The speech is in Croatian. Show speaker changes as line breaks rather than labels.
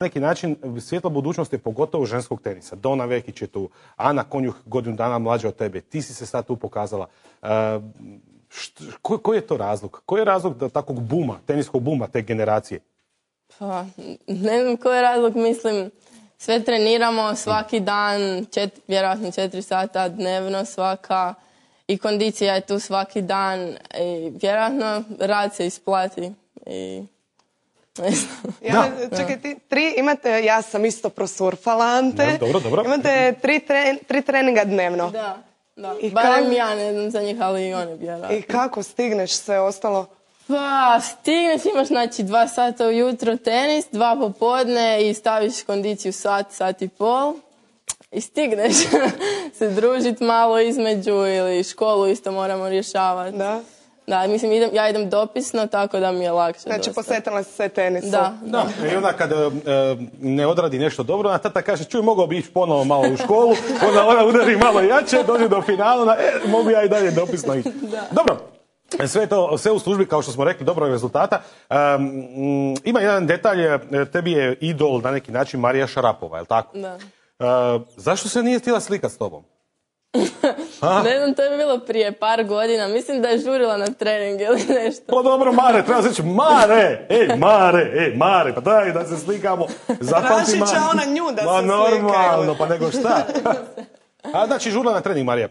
neki način svjetla budućnost je pogotovo ženskog tenisa. Dona Vekić je tu, Ana Konjuh godinu dana mlađa od tebe, ti si se sad tu pokazala. Koji je to razlog? Koji je razlog da takvog buma, teniskog buma te generacije?
Pa, ne znam koji je razlog, mislim, sve treniramo svaki dan, vjerojatno 4 sata dnevno svaka i kondicija je tu svaki dan i vjerojatno rad se isplati i ne znam.
Čekaj, imate, ja sam isto prosurfala, Ante.
Dobro.
Imate 3 treninga dnevno.
Da. Barem ja ne znam za njih, ali i oni vjerojatno.
I kako stigneš sve ostalo?
Pa, stigneš, imaš znači 2 sata ujutro tenis, 2 popodne i staviš kondiciju sat i pol i stigneš se družit malo između ili školu isto moramo rješavati. Da, mislim, ja idem dopisno, tako da mi je lakše.
Znači, posvetila si se tenisu.
Da.
I onda kad ne odradi nešto dobro, ona tata kaže, čuj, mogao bi ići ponovo malo u školu, onda ona udari malo jače, dođe do finala, mogu ja i dalje dopisno ići. Dobro. Sve u službi, kao što smo rekli, dobrog rezultata. Ima jedan detalj, tebi je idol na neki način Marija Šarapova, je li tako?
Da.
Zašto se nije htjela slikati s tobom?
Ne znam, to je bilo prije par godina. Mislim da je žurila na trening ili nešto.
Pa dobro, Mare, treba se reći, Mare, pa daj da se slikamo.
Tražit će ona nju da se slikaju.
Normalno, pa nego šta? Znači, žurila na trening, Marija.